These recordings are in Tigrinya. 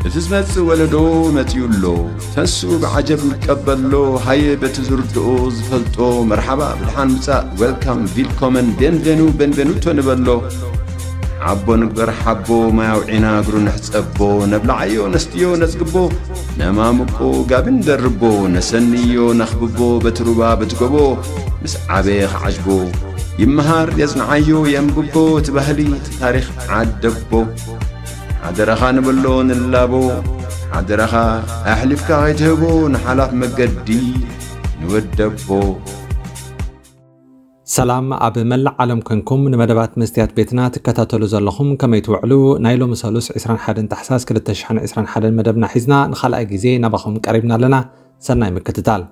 እቲ ዝመጽእ ወለዶ መጺኡ ኣሎ። ተንስኡ ብዓጀብ ንቀበሎ። ሃየ በቲ ዝርድኦ ዝፈልጦ መርሓባ ብድሓን ምጻእ፣ ዌልካም፣ ቪልኮመን፣ ቤንቬኑ፣ ቤንቬኑቶ ንበሎ። ሓቦ ንግበር ሓቦ፣ ማይ ኣውዒና እግሩ ንሕጸቦ። ነብልዓዮ ነስትዮ ነጽግቦ፣ ነማሙቆ ጋቢ ንደርቦ። ነሰንዮ ነኽብቦ በቲ ሩባ በቲ ጎቦ። ምስ ዓበየ ክዓጅቦ፣ ይመሃር የጽንዓዮ የንብቦ። እቲ ባህሊ እቲ ታሪኽ ዓደቦ። ሓደራኻ ንበሎ ንላቦ፣ ሓደራኻ ኣሕሊፍካ ከይትህቦ ንሓላፍ መገዲ ንወደቦ። ሰላም ኣብ መላእ ዓለም ኮንኩም ንመደባት መስትያት ቤትና ትከታተሉ ዘለኹም ከመይ ትውዕሉ? ናይ ሎሚ ሰሉስ ዕስራን ሓደን ታሕሳስ ክልተ ሽሕን ዕስራን ሓደን መደብና ሒዝና ንኻልኣይ ግዜ ናባኹም ቀሪብና ኣለና። ሰናይ ምክትታል።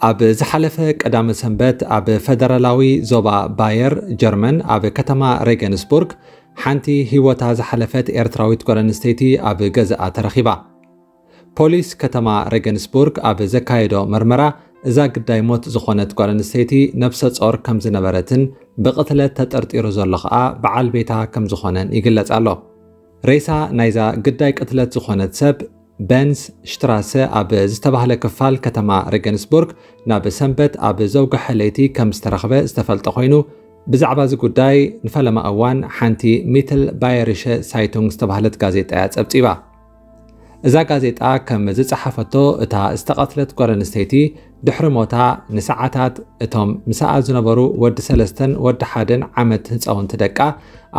ኣብ ዝሓለፈ ቀዳመ ሰንበት ኣብ ፈደራላዊ ዞባ ባየር ጀርመን ኣብ ከተማ ሬገንስቡርግ ሓንቲ ህይወታ ዝሓለፈት ኤርትራዊት ጓል ኣንስተይቲ ኣብ ገዛኣ ተረኺባ። ፖሊስ ከተማ ሬገንስቡርግ ኣብ ዘካየዶ መርመራ እዛ ግዳይ ሞት ዝኾነት ጓል ኣንስተይቲ ነብሰ ጾር ከም ዝነበረትን ብቕትለት ተጠርጢሩ ዘሎ ኸኣ በዓል ቤታ ከም ዝኾነን ይግለጽ ኣሎ። ሬሳ ናይዛ ግዳይ ቅትለት ዝኾነት ሰብ በንስ ሽትራሰ ኣብ ዝተባህለ ክፋል ከተማ ሬገንስቡርግ ናብ ሰንበት ኣብ ዘውግሐ ለይቲ ከም ዝተረኽበ ዝተፈልጠ ኮይኑ፣ ብዛዕባ እዚ ጉዳይ ንፈለማ እዋን ሓንቲ ሚትል ባየሪሸ ሳይቱንግ ዝተባህለት ጋዜጣ እያ ጸብጺባ። እዛ ጋዜጣ ከም ዝጸሓፈቶ፣ እታ ዝተቐትለት ጓል ኣንስተይቲ ድሕሪ ሞታ ንሰዓታት እቶም ምሳኣ ዝነበሩ ወዲ ሰለስተን ወዲ ሓደን ዓመት ህጻውንቲ ደቃ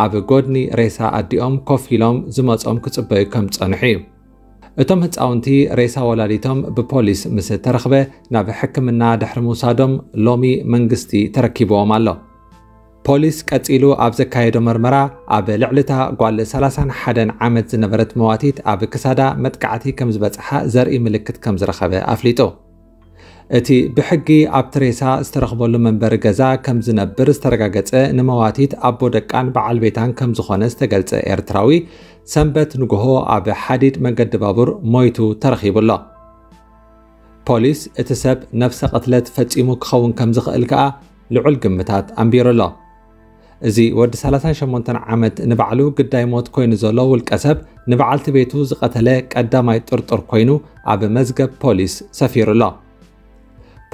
ኣብ ጎድኒ ሬሳ ኣዲኦም ኮፍ ኢሎም ዝመጾም ክጽበዩ ከም ዝጸንሑ እዩ። እቶም ህጻውንቲ ሬሳ ወላዲቶም ብፖሊስ ምስ ተረኽበ ናብ ሕክምና ድሕሪ ምውሳዶም ሎሚ መንግስቲ ተረኪብዎም ኣሎ። ፖሊስ ቀጺሉ ኣብ ዘካየዶ መርመራ ኣብ ልዕሊ እታ ጓል ሰላሳን ሓደን ዓመት ዝነበረት መዋቲት ኣብ ክሳዳ መጥቃዕቲ ከም ዝበጽሓ ዘርኢ ምልክት ከም ዝረኸበ ኣፍሊጡ። እቲ ብሕጊ ኣብቲ ሬሳ ዝተረኽበሉ መንበሪ ገዛ ከም ዝነብር ዝተረጋገጸ ንመዋቲት ኣቦ ደቃን በዓል ቤታን ከም ዝኾነ ዝተገልጸ ኤርትራዊ ሰንበት ንግሆ ኣብ ሓዲድ መገዲ ባቡር ሞይቱ ተረኺቡ ኣሎ። ፖሊስ እቲ ሰብ ነፍሰ ቅትለት ፈጺሙ ክኸውን ከም ዝኽእል ከኣ ልዑል ግምታት ኣንቢሩ ኣሎ። እዚ ወዲ ሰላሳን ሸሞንተን ዓመት ንባዕሉ ግዳይ ሞት ኮይኑ ዘሎ ውልቀ ሰብ ንበዓልቲ ቤቱ ዝቐተለ ቀዳማይ ጥርጡር ኮይኑ ኣብ መዝገብ ፖሊስ ሰፊሩ ኣሎ።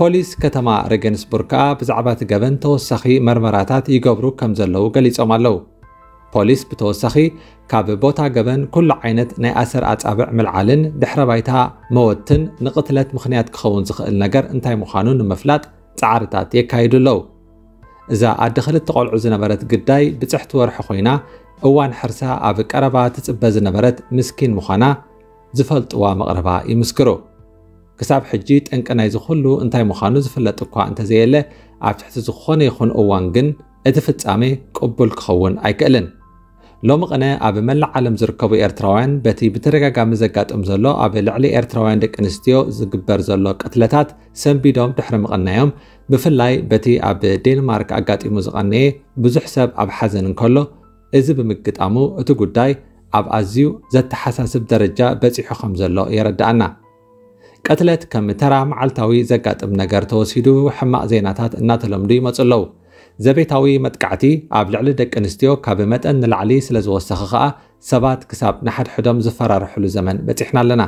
ፖሊስ ከተማ ሬገንስቡርግ ከኣ ብዛዕባ እቲ ገበን ተወሳኺ መርመራታት ይገብሩ ከም ዘለዉ ገሊጾም ኣለዉ። ፖሊስ ብተወሳኺ ካብ ቦታ ገበን ኩሉ ዓይነት ናይ ኣሰር ኣጻብዕ ምልዓልን ድሕረ ባይታ መወትን ንቕትለት ምኽንያት ክኸውን ዝኽእል ነገር እንታይ ምዃኑ ንምፍላጥ ጻዕርታት የካይዱ ኣለዉ። እዛ ኣደ ክልተ ቆልዑ ዝነበረት ግዳይ ብጽሕቲ ወርሒ ኮይና እዋን ሕርሳ ኣብ ቀረባ ትጽበ ዝነበረት ምስኪን ምዃና ዝፈልጥዋ መቕረባ ይምስክሩ። ክሳብ ሕጂ ጠንቂ ናይዚ ኩሉ እንታይ ምዃኑ ዝፍለጥ እኳ እንተዘየለ፣ ኣብ ትሕቲ ዝኾነ ይኹን እዋን ግን እቲ ፍጻሜ ቅቡል ክኸውን ኣይክእልን። ሎሚ ቅነ ኣብ መላእ ዓለም ዝርከቡ ኤርትራውያን በቲ ብተደጋጋሚ ዘጋጥም ዘሎ ኣብ ልዕሊ ኤርትራውያን ደቂ ኣንስትዮ ዝግበር ዘሎ ቅትለታት ሰንቢዶም ድሕሪ ምቕናዮም፣ ብፍላይ በቲ ኣብ ዴንማርክ ኣጋጢሙ ዝቐነየ ብዙሕ ሰብ ኣብ ሓዘን እንከሎ፣ እዚ ብምግጣሙ እቲ ጉዳይ ኣብ ኣዝዩ ዘተሓሳስብ ደረጃ በጺሑ ከም ዘሎ የረድኣና። ቅትለት ከም ተራ መዓልታዊ ዘጋጥም ነገር ተወሲዱ ሕማቕ ዜናታት እናተለምዱ ይመጹ ኣለዉ። ዘቤታዊ መጥቃዕቲ ኣብ ልዕሊ ደቂ ኣንስትዮ ካብ መጠን ንላዕሊ ስለ ዝወሰኸ ከኣ ሰባት ክሳብ ንሓድሕዶም ዝፈራርሕሉ ዘመን በጺሕና ኣለና።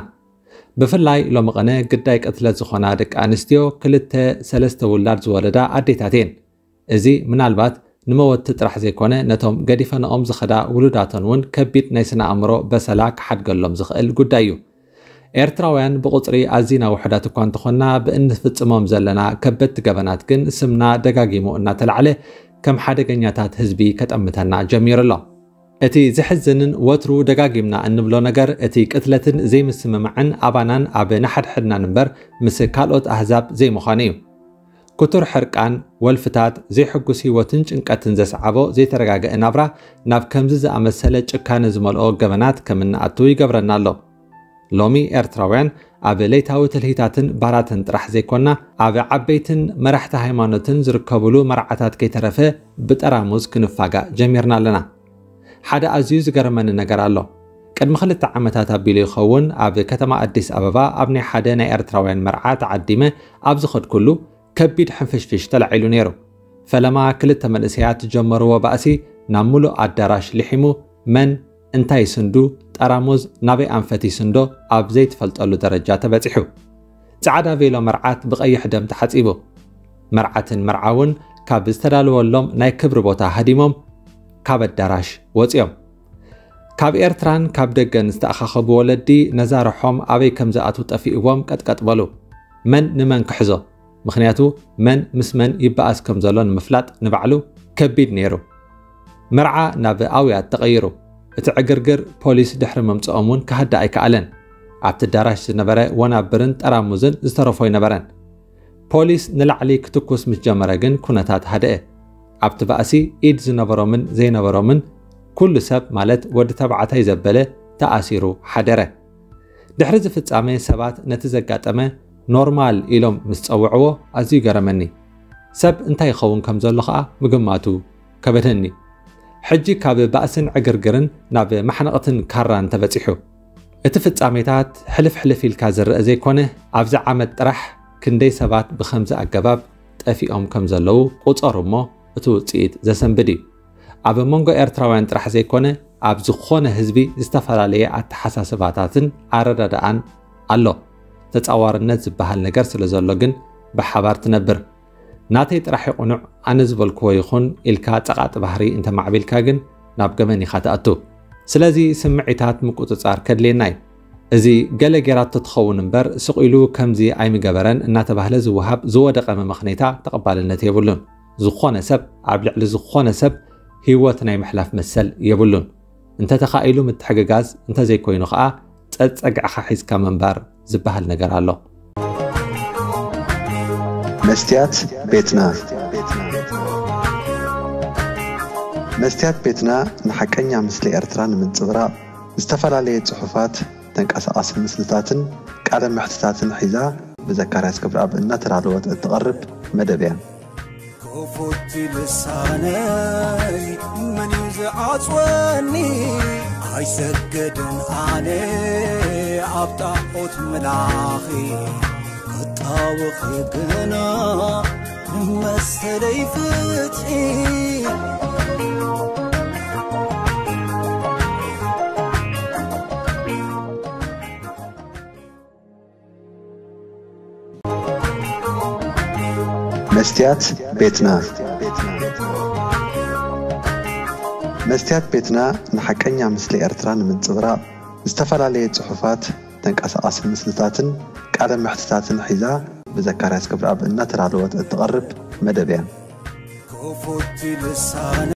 ብፍላይ ሎሚ ቅነ ግዳይ ቅትለት ዝኾና ደቂ ኣንስትዮ ክልተ ሰለስተ ውላድ ዝወለዳ ኣዴታት እየን። እዚ ምናልባት ንመወቲ ጥራሕ ዘይኮነ ነቶም ገዲፈንኦም ዝኸዳ ውሉዳተን እውን ከቢድ ናይ ስነ ኣእምሮ በሰላ ክሓድገሎም ዝኽእል ጉዳይ እዩ። ኤርትራውያን ብቑጽሪ ኣዚና ውሑዳት እኳ እንተኾንና ብእንፍጽሞም ዘለና ከበድቲ ገበናት ግን ስምና ደጋጊሙ እናተላዕለ ከም ሓደገኛታት ህዝቢ ከጠምተና ጀሚሩ ኣሎ። እቲ ዘሕዝንን ወትሩ ደጋጊምና እንብሎ ነገር እቲ ቅትለትን ዘይምስምማዕን ኣባናን ኣብ ንሓድሕድናን እምበር ምስ ካልኦት ኣህዛብ ዘይምዃኑ እዩ። ክቱር ሕርቃን፣ ወልፍታት፣ ዘይሕጉስ ህይወትን ጭንቀትን ዘስዓቦ ዘይተረጋገአ ናብራ ናብ ከምዚ ዝኣመሰለ ጭካነ ዝመልኦ ገበናት ከም እንኣቱ ይገብረና ኣሎ። ሎሚ ኤርትራውያን ኣብ ለይታዊ ትልሂታትን ባራትን ጥራሕ ዘይኮና ኣብ ዓበይትን መራሕቲ ሃይማኖትን ዝርከብሉ መርዓታት ከይተረፈ ብጠራሙዝ ክንፋጋእ ጀሚርና ኣለና። ሓደ ኣዝዩ ዝገረመኒ ነገር ኣሎ። ቅድሚ ክልተ ዓመታት ኣቢሉ ይኸውን ኣብ ከተማ ኣዲስ ኣበባ ኣብ ናይ ሓደ ናይ ኤርትራውያን መርዓ ተዓዲመ ኣብ ዝኸድኩሉ ከቢድ ሕንፍሽፍሽ ተላዒሉ ነይሩ። ፈለማ ክልተ መንእሰያት ዝጀመርዎ ባእሲ ናብ ምሉእ ኣዳራሽ ልሒሙ፣ መን እንታይ ይስንዱ፣ ጠራሙዝ ናበይ ኣንፈት ይስንዶ ኣብ ዘይትፈልጠሉ ደረጃ ተበጺሑ። ጻዕዳ ቬሎ መርዓት ብቐይሕ ደም ተሓጺቡ። መርዓትን መርዓውን ካብ ዝተዳለወሎም ናይ ክብሪ ቦታ ሃዲሞም ካብ ኣዳራሽ ወጺኦም። ካብ ኤርትራን ካብ ደገን ዝተኣኻኸቡ ወለዲ ነዛ ርሖም ኣበይ ከም ዝኣትዉ ጠፊእዎም ቀጥቀጥ በሉ። መን ንመን ክሕዞ? ምኽንያቱ መን ምስ መን ይበኣስ ከም ዘሎ ንምፍላጥ ንባዕሉ ከቢድ ነይሩ። መርዓ ናብ ኣውያት ተቐይሩ። እቲ ዕግርግር ፖሊስ ድሕሪ ምምጽኦም እውን ክሃድእ ኣይከኣለን። ኣብቲ ኣዳራሽ ዝነበረ ወናብርን ጠራሙዝን ዝተረፎ ኣይነበረን። ፖሊስ ንላዕሊ ክትኩስ ምስ ጀመረ ግን ኩነታት ሃደአ። ኣብቲ ባእሲ ኢድ ዝነበሮምን ዘይነበሮምን ኩሉ ሰብ ማለት ወዲ ተባዕታይ ዘበለ ተኣሲሩ ሓደረ። ድሕሪ እዚ ፍጻመ ሰባት ነቲ ዘጋጠመ ኖርማል ኢሎም ምስ ጸውዕዎ ኣዝዩ ገረመኒ። ሰብ እንታይ ይኸውን ከም ዘሎ ኸኣ ምግማቱ ከበደኒ። ሕጂ ካብ ባእስን ዕግርግርን ናብ ማሕነቕትን ካራን ተበጺሑ። እቲ ፍጻሜታት ሕልፍ ሕልፍ ኢልካ ዝረአ ዘይኮነ፣ ኣብዚ ዓመት ጥራሕ ክንደይ ሰባት ብኸምዚ ኣገባብ ጠፊኦም ከም ዘለዉ ቁጸሩ እሞ፣ እቲ ውጽኢት ዘሰንብድ እዩ። ኣብ መንጎ ኤርትራውያን ጥራሕ ዘይኮነ፣ ኣብ ዝኾነ ህዝቢ ዝተፈላለየ ኣተሓሳስባታትን ኣረዳድኣን ኣሎ። ተጻዋርነት ዝበሃል ነገር ስለ ዘሎ ግን ብሓባር ትነብር። ናተይ ጥራሕ ይቑኑዕ፣ ኣነ ዝበልክዎ ይኹን ኢልካ ጸቓጢ ባህሪ እንተማዕቢልካ ግን ናብ ገበን ኢኻ ትኣቱ። ስለዚ ስምዒታት ምቁጽጻር ከድልየና እዩ። እዚ ገለ ጌራቶ ትኸውን እምበር፣ ስቕ ኢሉ ከምዚ ኣይምገበረን እናተባህለ ዝወሃብ ዝወደቐ መመኽነይታ ተቐባልነት የብሉን። ዝኾነ ሰብ ኣብ ልዕሊ ዝኾነ ሰብ ህይወት ናይ ምሕላፍ መሰል የብሉን። እንተተኻኢሉ ምትሕግጋዝ፣ እንተዘይኮይኑ ኸኣ ጸጸግዕኻ ሒዝካ ምንባር ዝበሃል ነገር ኣሎ። መስትያት ቤትና። መስትያት ቤትና ንሓቀኛ ምስሊ ኤርትራ ንምንጽብራቕ ዝተፈላለየ ጽሑፋት፣ ተንቀሳቓሲ ምስልታትን ቃለ መሕትታትን ሒዛ ብዘካርያስ ክብረኣብ እናተዳለወት እትቐርብ መደብ እያ። ክፉት ልሳነይ መን እዩ ዝዓጽወኒ? ኣይሰገድን ኣነ ኣብ ጣዖት ምላኺ ክጣወኺ ግና ንመሰለይ ፍትሒ። መስትያት ቤትና። መስትያት ቤትና ንሓቀኛ ምስሊ ኤርትራ ንምንጽብራቕ ዝተፈላለየ ጽሑፋት፣ ተንቀሳቓሲ ምስልታትን ቃለ መሕትታትን ሒዛ ብዘካርያስ ክብረኣብ እናተዳለወት እትቐርብ መደብ እያ። ክፉት ልሳነ